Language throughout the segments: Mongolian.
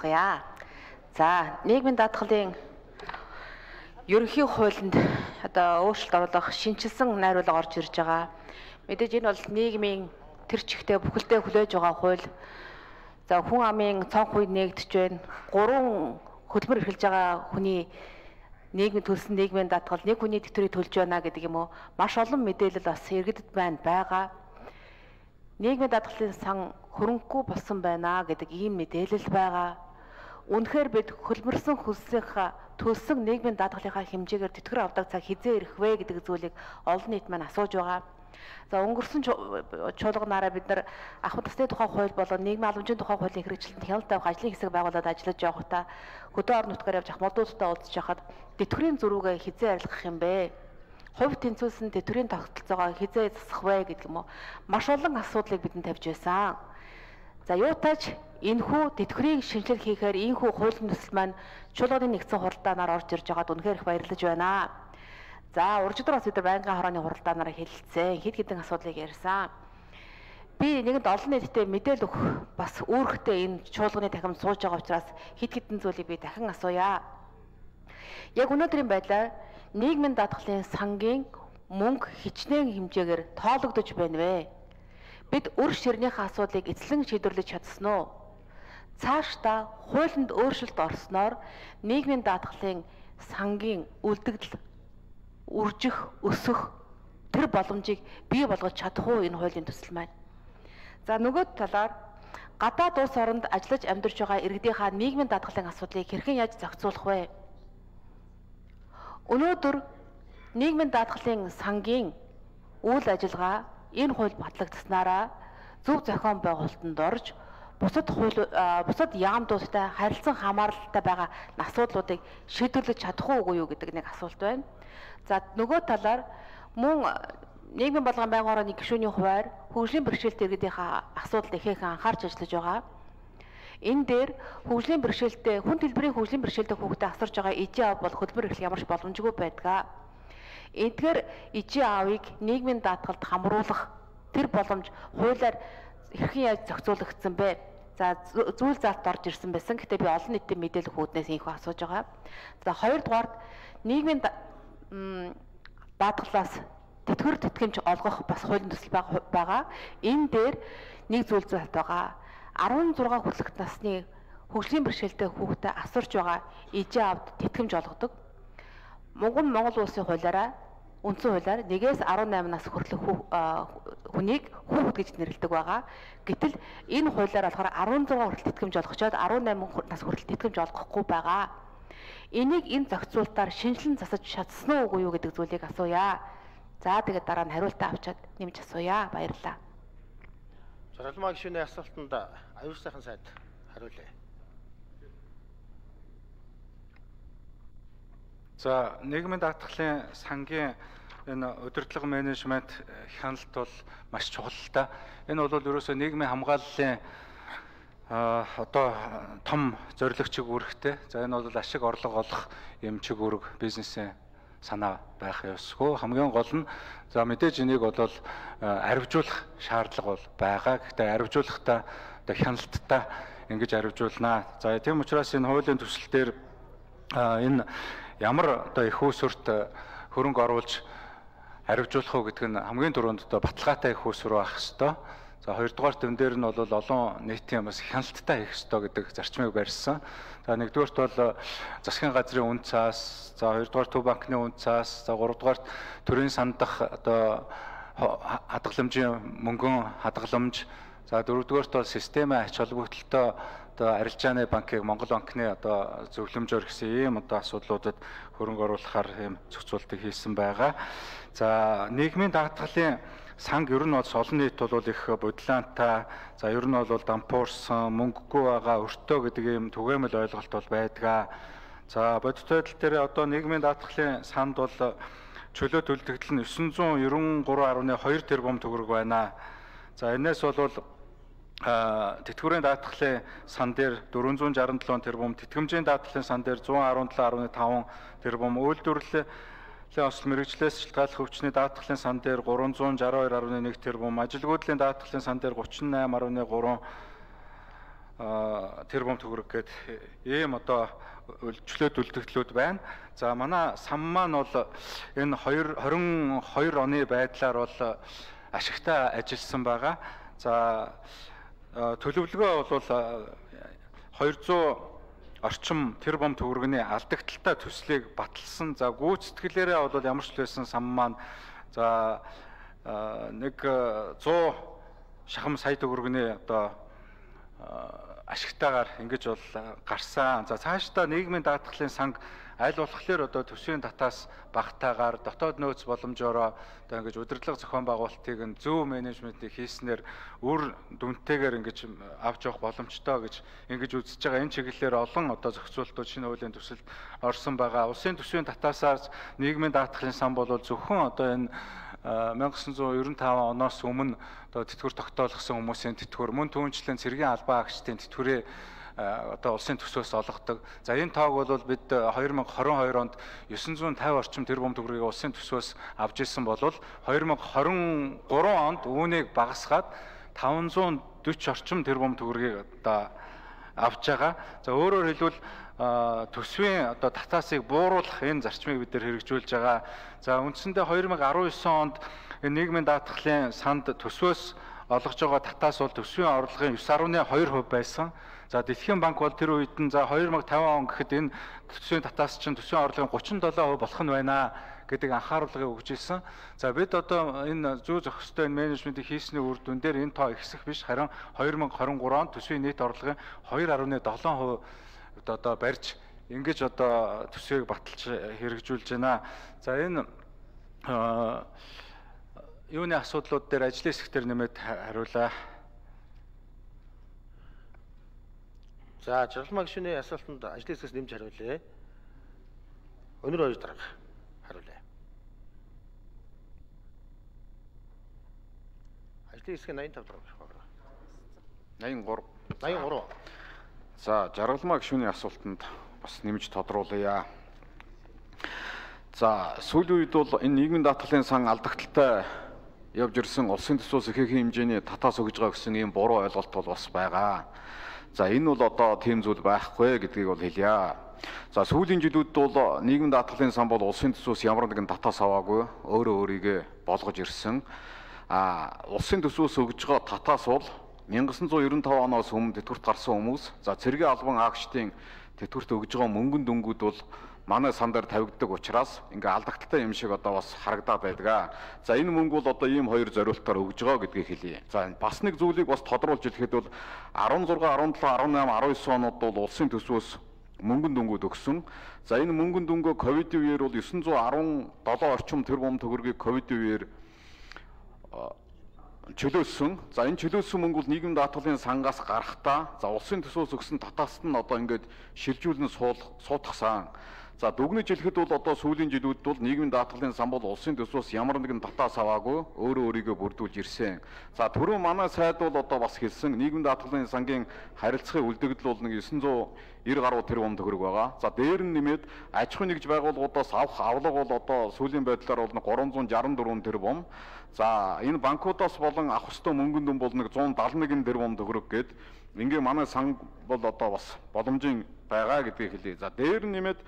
ярилцгаая. За, нийгмийн даатгалын ерөнхий хуулинд одоо өөрчлөлт оруулах шинжилсэн найруулга орж ирж байгаа. Мэдээж энэ бол нийгмийн тэр чигтээ бүхэлдээ хүлээж байгаа хууль. За, хүн амын цонх үед нэгдэж байна. 3 хөдөлмөр эрхэлж байгаа хүний нийгмийн төлсөн нийгмийн даатгал нэг хүний тэтгэврийг төлж байна гэдэг юм уу? Маш олон мэдээлэл бас иргэдэд байгаа. Нийгмийн даатгалын сан хөрөнгөгүй болсон байна гэдэг ийм мэдээлэл байгаа. Үнэхээр бид хөлмөрсөн хөлсийнхаа төлсөн нийгмийн даатгалынхаа хэмжээгээр тэтгэр авдаг цаг хизээ ирэх вэ гэдэг зүйлийг олон нийт маань асууж байгаа. За, өнгөрсөн чуулганаараа бид нар ахмад насны тухай хууль болон нийгмийн халамжийн тухай хуулийн хэрэгжилтэнд хяналт тавих ажлын хэсэг байгуулад ажиллаж явахдаа хөдөө орон нутгаар явж ахмадуудтай уулзж хахад тэтгэврийн зөрүүгээ хизээ арилгах юм бэ? Хувь тэнцвүүлсэн тэтгэврийн тогтолцоогоо хизээ засах вэ гэдэг юм уу? Маш олон асуудлыг бидэнд тавьж байсан. За, юутайч энэхүү тэтгэврийн шинжилгээ хийхээр ийхүү хуулийн төсөл маань чуулганы нэгдсэн хуралдаанаар орж ирж байгаад үнэхээр их баярлаж байна. За, уржигдор бас бид байнгын хорооны хуралдаанаар хэлэлцсэн. Хэд хэдэн асуудлыг ярьсан. Би нэгэнд олон нийтэд мэдээлэл өгөх бас үүрэгтэй энэ чуулганы дахин сууж байгаа учраас хэд хэдэн зүйлийг би дахин асууя. Яг өнөөдрийн байдлаар нийгмийн даатгалын сангийн мөнгө хичнээн хэмжээгээр тоологдож байна вэ? Бид үр ширнийхээ асуудлыг эцлэн шийдвэрлэж чадсан уу? Цаашдаа хуулинд өөрчлөлт орсноор нийгмийн даатгалын сангийн үлдэгдэл үржих, өсөх тэр боломжийг бий болгож чадах уу энэ хуулийн төсөл маань? За, нөгөө талаар гадаад улс оронд ажиллаж амьдарч байгаа иргэдийнхаа нийгмийн даатгалын асуудлыг хэрхэн яаж зохицуулах вэ? Өнөөдөр нийгмийн даатгалын сангийн үйл ажиллагаа энэ хууль батлагдсанаараа зөв зохион байгуулалтанд орж бусад яамдуудтай харилцан хамааралтай байгаа асуудлуудыг шийдвэрлэж чадах уугүй юу гэдэг нэг асуулт байна. За, нөгөө талаар мөн нийгмийн болгон байнгын хорооны гишүүний хуваар хөгжлийн бэрхшээлтэй иргэдийнхаа асуудалд ихээхэн анхаарч ажиллаж байгаа. Энэ дээр хөгжлийн бэрхшээлтэй хүн төлбөрийн хөгжлийн бэрхшээлтэй хүүхдэд асарж байгаа ижийн аав бол хөдөлмөр эрхлэх ямарч боломжгүй байдаг. Эдгээр ижийн аавыг нийгмийн даатгалд хамруулах тэр боломж хуулиар хэрхэн яаж зохицуулагдсан бэ? За, зүйл заалт орж ирсэн байсан. Гэхдээ би олон нийтэд мэдээлэл өгөхүүднээс ийхүү асууж байгаа. За, хоёрдугаарт нийгмийн даатгалаас тэтгэвэр тэтгэмж олгох бас хуулийн төсөл байгаа. Энэ дээр нэг зүйл заалт байгаа. 16 хүртэлх насны хөгжлийн бэрхшээлтэй хүүхдэд асарч байгаа ижийн аавд тэтгэмж олгодог. Монгол улсын хуулиараа үндсэн хуулиар 1-ээс 18 нас хүртэлх хүнийг хүүхэд гэж нэрлэдэг байгаа. Гэтэл энэ хуулиар болохоор 16 хүртэл тэтгэмж олгочоод 18 нас хүртэл тэтгэмж олгохгүй байгаа. Энийг энэ зохицуултаар шинжилэн засаж чадсан уугүй юу гэдэг зүйлийг асууя. За, тэгээд дараа нь хариултаа авчаад нэмж асууя. Баярлалаа. Заргалмаа гишүүний асуултанд аюул сайхан сайд хариулъя. За, нийгмийн даатгалын сангийн энэ удирдлага менежмент хяналт бол маш чухал та. Энэ бол ерөөсөө нийгмийн хамгааллын одоо том зорилго чиг үүрэгтэй. За, энэ бол ашиг орлого олох юм чиг үүрэг бизнесийн санаа байх ёсгүй. Хамгийн гол нь за, мэдээж энийг бол арвижуулах шаардлага бол байгаа. Гэхдээ арвижуулахдаа одоо хяналттай ингэж арвижуулнаа. За, тийм учраас энэ хуулийн төсөл дээр энэ ямар одоо их усүрт хөрөнгө оруулж арвижуулах уу гэдэг нь хамгийн түрүүнд одоо баталгаатай их усүр байх ёстой. За, хоёрдугаар төвн дээр нь бол олон нийтийн бас хяналттай хийх ёстой гэдэг зарчмыг барьсан. За, нэгдүгээрт бол засгийн газрын үн цаас, за, хоёрдугаар төв банкны үн цаас, за, гуравдугаар төрийн сандах одоо хадгаламжийн мөнгөн хадгаламж, за, дөрөвдүгээрт бол системийн ач холбогдолтой одоо арилжааны банкыг Монгол банкны одоо зөвлөмжөөр гэсэн ийм одоо асуудлуудад хөрөнгө оруулахаар ийм зохицуултыг хийсэн байгаа. За, нийгмийн даатгалын санг ер нь бол олон нийт бол их бодлоонтой, за, ер нь бол дампуурсан, мөнгөгүй байгаа, өртөө гэдэг ийм түгээмэл ойлголт бол байдаг. За, бодит байдал дээр одоо нийгмийн даатгалын санд бол чөлөө төлөвлөлт нь 993.2 тэрбум төгрөг байна. За, энэс бол тэтгэврийн даатгалын сан дээр 467 тэрбум, тэтгэмжийн даатгалын сан дээр 117.5 тэрбум, үйлдвэрлэлийн осол мэргэжлээс шалтгааллах өвчний даатгалын сан дээр 362.1 тэрбум, ажилгүйдлийн даатгалын сан дээр 38.3 тэрбум төгрөг гээд ийм одоо чөлөөт үлдэгдлүүд байна. За манай сан маань бол энэ 22 оны байдлаар бол ашигтай ажилласан байгаа. За төлөвлөгөө бол 200 орчим тэрбум төгрөгийн алдагдaltaй төслийг баталсан. За гүйцэтгэлээрээ бол ямар ч байсан сан маань за нэг 100 шахам сая төгрөгийн одоо ашигтайгаар ингэж бол гарсан. За цаашдаа нийгмийн даатгалын санг аль болохоор одоо төсвийн татаас багтаагаар дотоод нөөц боломжоор одоо ингэж удирдлага зохион байгуулалтыг нь зөв менежментийг хийснээр үр дүнтэйгээр ингэж авч явах боломжтой гэж ингэж үзэж байгаа. Энэ чиглэлээр олон одоо зохицуултууд шинэ хуулийн төсөлд орсон байгаа. Улсын төсвийн татаасаар нийгмийн даатгалын сан бол зөвхөн одоо энэ 1995 оноос өмнө одоо тэтгэвэр тогтоолгосон хүмүүсийн тэтгэвэр мөн түүнчлэн цэргийн албан агчдын тэтгэврээ одоо улсын төсвөөс олгодог. За энэ тоог бол бид 2022 онд 950 орчим тэрбум төгрөгийг улсын төсвөөс авч ирсэн бол 2023 онд үүнийг багасгаад 540 орчим тэрбум төгрөгийг одоо авч байгаа. За өөрөөр хэлбэл төсвийн одоо татаасыг бууруулах энэ зарчмыг бид нэр хэрэгжүүлж байгаа. За үндсэндээ 2019 онд энэ нийгмийн даатгалын санд төсвөөс олгож байгаа татаас бол төсвийн орлогын 9.2% байсан. За Дэлхийн банк бол тэр үед нь за 2050 он гэхэд энэ төсвийн татаас чинь төсвийн орлогын 37% болох нь байна гэдэг анхааруулгыг өгж ирсэн. За бид одоо энэ зүй зохистой энэ менежментийг хийсний үр дүн дээр энэ тоо ихсэх биш, харин 2023 онд төсвийн нийт орлогын 2.7% одоо барьж ингэж одоо төсвийг баталж хэрэгжүүлж байна. За энэ юуны асуудлууд дээр ажлын хэсгээр нэмээд хариулаа. За жаргалмаа гишүүний асуултанд ажлын хэсгээс нэмж хариулъя. Өнөр хоёр дарга хариулъя. Ажлын хэсгийн 85 дарга байх байна. 83. За жаргалмаа гишүүний асуултанд бас нэмж тодруулъя. За сүүлийн үед бол энэ нийгмийн даатгалын сан алдагдaltaй явж ирсэн улсын төсвөөс ихээхэн хэмжээний татаас өгж байгаа гэсэн ийм буруу ойлголт бол бас байгаа. За энэ бол одоо тийм зүйл байхгүй гэдгийг бол хэлье. За сүүлийн жилүүд бол нийгмийн даатгалын сан бол улсын төсвөөс ямар нэгэн татаас аваагүй өөрөө өөрийгөө болгож ирсэн. Улсын төсвөөс өгж байгаа татаас бол 1995 оноос өмнө тэтгэврт гарсан хүмүүс, за цэргийн албан агчдын тэтгэврт өгж байгаа мөнгөн дүнгууд бол манай сан дээр тавигддаг учраас ингээ алдагдaltaй юм шиг одоо бас харагдаад байдаг. За энэ мөнгө бол одоо ийм хоёр зориултаар өгж байгаа гэдгийг хэлье. За бас нэг зүйлийг бас тодруулж хэлэхэд бол 16, 17, 18, 19 онод бол улсын төсвөөс мөнгөн дүнгууд өгсөн. За энэ мөнгөн дүнгөө ковидын үеэр бол 917 орчим тэрбум төгрөгийг ковидын үеэр чөлөөсөн. За энэ чөлөөсөн мөнгө бол нийгмийн даатгалын сангаас гарахдаа за улсын төсвөөс өгсөн татааст нь одоо ингээд шилжүүлэн суудахсан. За дүгнэж хэлэхэд бол одоо сүүлийн жилүүд бол нийгмийн даатгалын сан бол улсын төсвөөс ямар нэгэн татаас аваагүй өөрөө өөрийгөө бүрдүүлж ирсэн. За түрүү манай сайд бол одоо бас хэлсэн нийгмийн даатгалын сангийн харилцагын үлдэгдэл бол нэг 990 гаруй тэрбум төгрөг байгаа. За дээр нь нэмээд аж ахуйн нэгж байгууллагуудаас авах авлага бол одоо сүүлийн байдлаар бол 364 тэрбум. За энэ банкудаас болон авах ёстой мөнгөн дүн бол нэг 171 тэрбум төгрөг гээд ингээ манай сан бол одоо бас боломжийн байгаа гэдгийг хэлье. За дээр нь нэмээд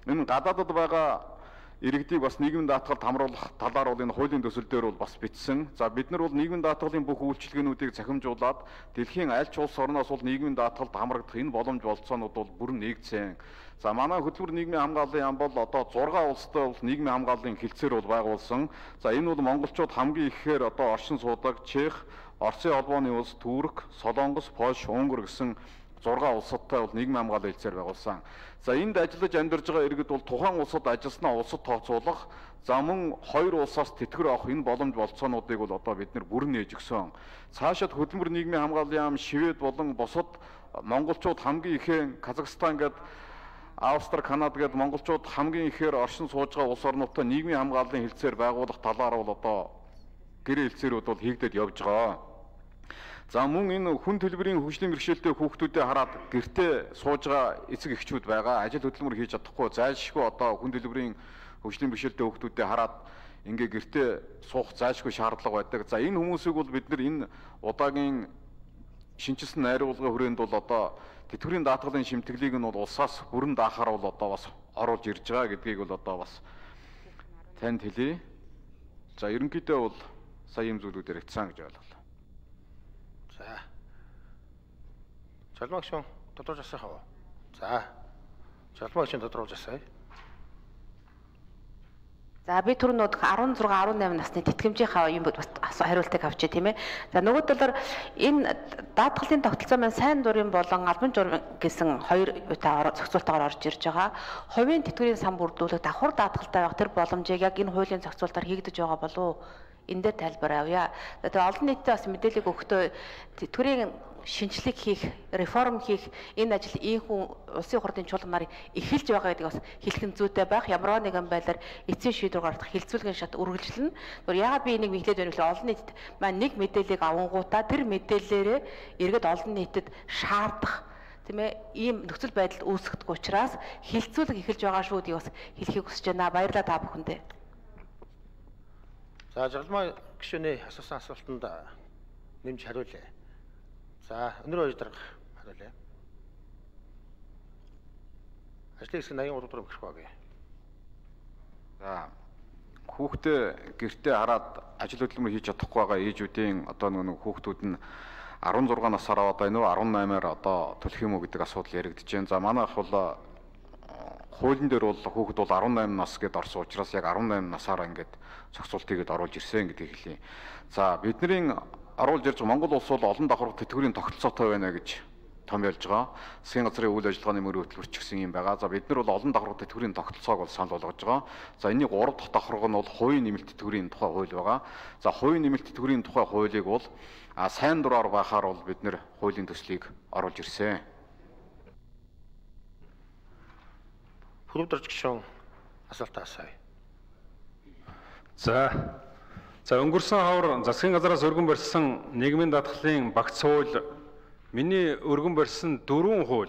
энэ гадаадд байгаа иргэдийг бас нийгмийн даатгалд хамруулах талаар бол энэ хуулийн төсөл дээр бол бас бичсэн. За бид нар бол нийгмийн даатгалын бүх үйлчилгээнүүдийг цахимжуулаад дэлхийн аль ч улс орноос бол нийгмийн даатгалд хамрагдах энэ боломж болцоонууд бол бүрэн нэгдсэн. За манай хөтөлбөр нийгмийн хамгааллын яам бол одоо 6 улстай бол нийгмийн хамгааллын хилцээр бол байгуулсан. За энэ бол монголчууд хамгийн ихээр одоо оршин суудаг Чех, Оросын холбооны улс, Турк, Солонгос, Польш, Унгар гэсэн 6 улсадтай бол нийгмийн хамгааллын хилцээр байгуулсан. За энд ажиллаж амьдарч байгаа иргэд бол тухайн улсад ажилласнаа улсад тооцоолох, за мөн хоёр улсаас тэтгэвэр авах энэ боломж болцоонуудыг бол одоо бид нэр бүрэн нээж өгсөн. Цаашид хөтөлбөр нийгмийн хамгааллын яам Швед болон бусад монголчууд хамгийн ихэн Казахстан гээд Австрали, Канада гээд монголчууд хамгийн ихээр оршин сууж байгаа улс орнуудтай нийгмийн хамгааллын хилцээр байгуулах талаар бол одоо гэрээ хилцээрүүд бол хийгдээд явж байгаа. За мөн энэ хүн төлбөрийн хөгжлийн бэрхшээлтэй хүүхдүүдэд хараад гэртээ сууж байгаа эцэг эхчүүд байгаа. Ажил хөдөлмөр хийж чадахгүй зайлшгүй одоо хүн төлбөрийн хөгжлийн бэрхшээлтэй хүүхдүүдэд хараад ингээ гэртээ суух зайлшгүй шаардлага байдаг. За энэ хүмүүсийг бол бид нар энэ удаагийн шинжилсэн найруулгын хүрээнд бол одоо тэтгэврийн даатгалын шимтгэлийг нь бол улсаас бүрэн даахаар бол одоо бас оруулж ирж байгаа гэдгийг бол одоо бас танд хэлье. За ерөнхийдөө бол сая юм зүйлүүдээр хэвцэн гэж ойлголоо. За. Жалмагш тодорхойлж асах уу? За. Жалмагш тодорхойлж асая. За би түрүүнүүд 16 18 насны тэтгэмжийнхаа юм бас хариултыг авчээ тийм ээ. За нөгөө талаар энэ даатгалын тогтолцоо маань сайн дурын болон албан журам гэсэн хоёр үеийн зохицуултаар орж ирж байгаа. Хувийн тэтгэврийн сан бүрдүүлэх давхар даатгалтай байх тэр боломжийг яг энэ хуулийн зохицуултаар хийгдэж байгаа болов уу? Энд дээр тайлбар авъя. За тэр олон нийтэд бас мэдээлэл өгөхдөө тэтгэврийн шинжилгээ хийх, реформ хийх энэ ажил ийхүү улсын хурлын чуулганаар эхэлж байгаа гэдгийг бас хэлэх нь зүйтэй байх. Ямар нэгэн байдлаар эцсийн шийдвэр гаргах хилцүүлгийн шат үргэлжлэнэ. Тэгвэл яагаад би энийг мэдлээд байна вэ? Олон нийтэд маань нэг мэдээллийг авангуудаа тэр мэдээллээрээ иргэд олон нийтэд шаардах тийм ээ ийм нөхцөл байдал үүсгэх учраас хилцүүлэг эхэлж байгаа шүү гэдгийг бас хэлхийг хүсэж байна. Баярлалаа та бүхэндээ. За жагалмаа гишүүний асуусан асуултанд нэмж хариулъя. За өнөр хоёр дарга хариулъя. Ажлын хэсэг 83 дугаар өгөх багъя. За хүүхдээ гэртээ хараад ажил хөдөлмөр хийж чадахгүй байгаа ээжүүдийн одоо нэг хүүхдүүд нь 16 насаар аваад байна уу 18-аар одоо төлөх юм уу гэдэг асуудал яригдж байна. За манайх бол хуулийн дээр бол хүүхэд бол 18 нас гэдээ орсон учраас яг 18 насаараа ингээд зохицуултыгээд оруулж ирсэн гэдгийг хэлье. За бидний оруулж ирж Монгол улс бол олон давхар тэтгэврийн тогтолцоотой байна гэж томьёолж байгаа. Засгийн газрын үйл ажиллагааны мөрөөр хөтөлбөрч гисэн юм байгаа. За бид нар бол олон давхар тэтгэврийн тогтолцоог бол санал болгож байгаа. За энэний 3 дахь давхарга нь бол хувийн нэмэлт тэтгэврийн тухай хууль байгаа. За хувийн нэмэлт тэтгэврийн тухай хуулийг бол сайн дураар байхаар бол бид нар хуулийн төслийг оруулж ирсэн. Хүрээвдэрч гишүүн асуултаа асууя. За өнгөрсөн хавар засгийн газраас өргөн барьсан нийгмийн даатгалын багц хууль миний өргөн барьсан 4 хууль